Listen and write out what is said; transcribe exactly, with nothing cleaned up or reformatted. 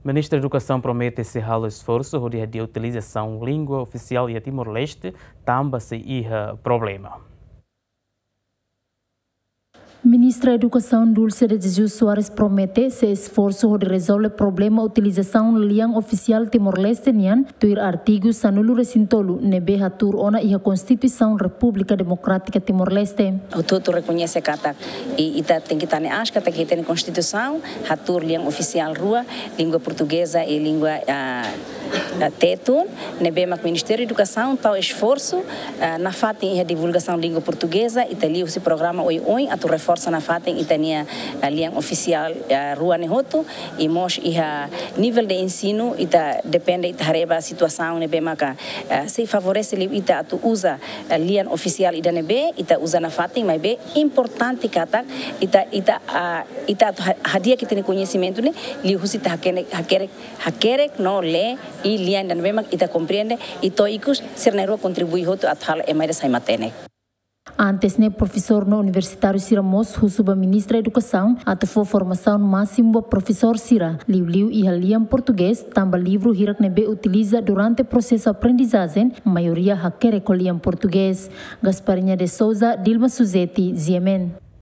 Ministra Edukasaun promete sei halo esforsu hodi hadi'a utilizasaun língua ofisiál iha Timor-Leste, tanba sei iha problema. Ministra Edukasaun Dulce de Jesus Soares promete sei esforsu hodi rezolve problema utilizasaun lian ofisiál Timor-Leste nian, tuir artigu sanulu-resin-tolu ne'ebé hatuur ona iha Konstituisaun Repúblika Demokrátika Timor-Leste. Hotu-hotu rekoñese katak, i ita tenke hatene aas katak iha ita-nia Konstituisaun hatuur lian ofisiál rua, língua portugeza i língua, ah, ah, tetun, ne'ebé mak Ministériu Edukasaun tau esforsu, ah, nafatin iha divulgasaun língua portugeza, ita liuhusi programa oioin atu reforsa nafatin ita-nia, ah, lian ofisiál, ah, rua ne'e hotu, i mós iha nivel de ensinu, ita depende, ita haree ba situasaun ne'ebé maka, ah, sei favorese liu ita atu uza, ah, lian ofisiál ida ne'ebé, ita uza nafatin, maibé importante katak ita, ita, ah, ita atu ha-, hadi'a ita-nia koñesimentu ne'e, liuhusi ita hakerek, hakerek, hakerek no lee, i lian ida ne'ebé mak ita komprende, i to'o ikus sira na'in-rua kontribui hotu atu halo ema ida sai matenek. Antes ne'e, profesór no universitáriu sira mós husu ba Ministra Edukasaun atu fó formasaun másimu ba profesór sira, liuliu iha lian portugés, tanba livru hirak ne'ebé utiliza durante prosesu aprendizajen, maioria hakerek ho lian portugés. Gasparinha de Souza, Dilma Suzeti, G M N.